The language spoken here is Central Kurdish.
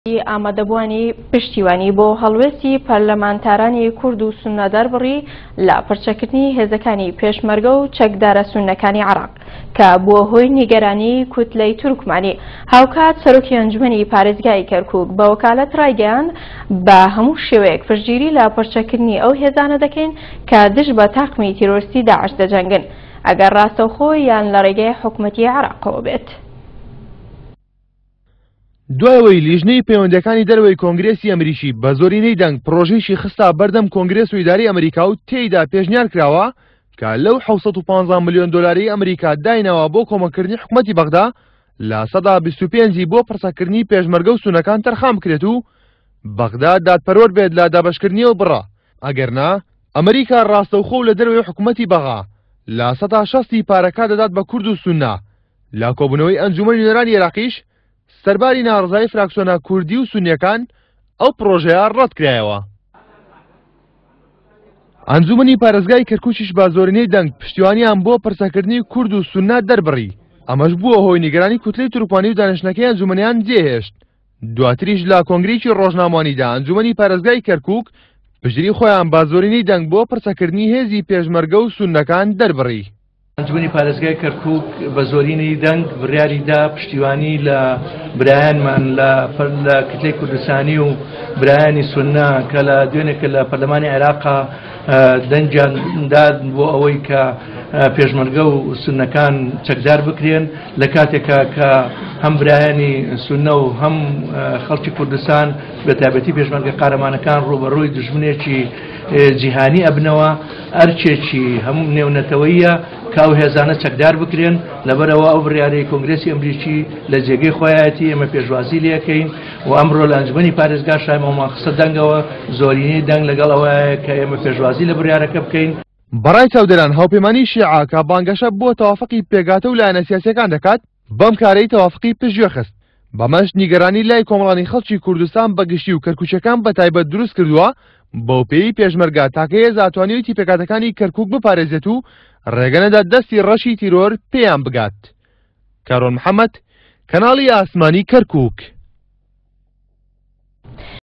ئامادەبووانی پشتیوانی بۆ هەڵوێستی پەرلەمانتارانی کورد و سوننە دەربڕی لە پرچەکردنی هێزەکانی پێشمەرگە و چەکدارە سوننەکانی عێراق کە بووە هۆی نیگەرانی کوتلەی تورکمانی. هاوکات سەرۆکی ئەنجومەنی پارێزگای کەرکوک بە وەکالەت ڕایگەیاند، بە هەموو شێوەیەک پشتگیری لە پرچەکردنی ئەو هێزانە دەکەین کە دژ بە تاقمی تیرۆرستی داعش دەجەنگن ئەگەر ڕاستەوخۆ یان لە ڕێگەی حکومەتی عێراقەوە بێت. دوای ئەوەی لیژنەی پەیوەندیەکانی دەرەوەی کۆنگرێسی ئەمریکی بە زۆرینەی دەنگ پڕۆژەیەکی خستە بەردەم کۆنگرێس و ئیدارەی ئەمریکا و تێیدا پێشنیار کراوە کە لەو 715 ملیۆن دۆلاری ئەمریکا داینەوە بۆ کۆمەککردنی حکومەتی بەغدا 25% ی بۆ پڕچەککردنی پێشمەرگە و سونەکان تەرخان بکرێت و بەغدا دادپەروەر بێت لە دابەشکردنی ئەو بڕە ئەگەرنا ئەمریکا ڕاستەوخۆ و لە دەرەوەی حکومەتی بەغا 60% ی پارەکە دەدات بە کورد و سونە. لە کۆبوونەوەی ئەنجومەنی نوێنەرانی عێراقیش سەرباری ناڕەزایی فراکسیۆنە کوردی و سونیەکان ئەو پڕۆژەیە ڕەتکرایەوە. ئەنجومەنی پارێزگای کەرکوکیش بە زۆرینەی دەنگ پشتیوانیان بۆ پرسەکردنی کورد و سونە دەربڕی، ئەمەش بووە هۆی نیگەرانی کوتلەی تورکمانی و دانیشتنەکەی ئەنجومەنیان جێهێشت. دواتریش لە کۆنگرەیەکی ڕۆژنامەوانیدا ئەنجومەنی پارێزگای کەرکوک پشتگیری خۆیان بە زۆرینەی دەنگ بۆ پرسەکردنی هێزی پێشمەرگە و سوننەکان دەربڕی. ئەنجومەنی پارێزگای کەرکوک بە زۆرینەی دەنگ بڕیاری دا پشتیوانی لە برایانمان لە کتلەی کوردستانی و برایانی سوننە کە لە دوێنێ کە لە پەرلەمانی عێراقا دەنگیان دا بۆ ئەوەی کە پێشمەرگە و سوننەکان چەکدار بکرێن لە کاتێکا کە هەم برایانی سوننە و هەم خەڵکی کوردستان بە تایبەتی پێشمەرگە قارەمانەکان ڕووبەڕووی دوژمنێکی جیهانی ئەبنەوە. ئەرکێکی هەموو نێونەتەوەییە کە ئەو هێزانە چەکدار بکرێن، لەبەرئەوە ئەو بڕیارەی کۆنگرێسی ئەمریکی لە جێگەی خۆیایەتی، ئێمە پێشوازی لێکەین و ئەمڕۆ لە ئەنجومەنی پارێزگاش ئەمەمان خستە دەنگەوە، زۆرینەی دەنگ لەگەڵ ئەوەیە کە ئێمە پێشوازی لە بڕیارەکە بکەین. بەڕای چاودێران هاوپەیمانیی شیعە کە بانگەشە بۆ تەوافقی پێکهاتە و لایەنە سیاسییەکان دەکات، بەم کارەی تەوافقی پشتگوێ خست، بەمەش نیگەرانی لای کۆمەڵانی خەڵکی کوردستان بە گشتی و کەرکوکیەکان بە تایبەت دروست کردووە، بەوپێیەی پێشمەرگە تاکە هێزە توانیویەتی پێکهاتەکانی کەرکوک بپارێزێت و ڕێگە نەدات دەستی ڕەشی تیرۆر پێیان بگات. کارۆن محەمەد، کەناڵی ئاسمانی کەرکوک.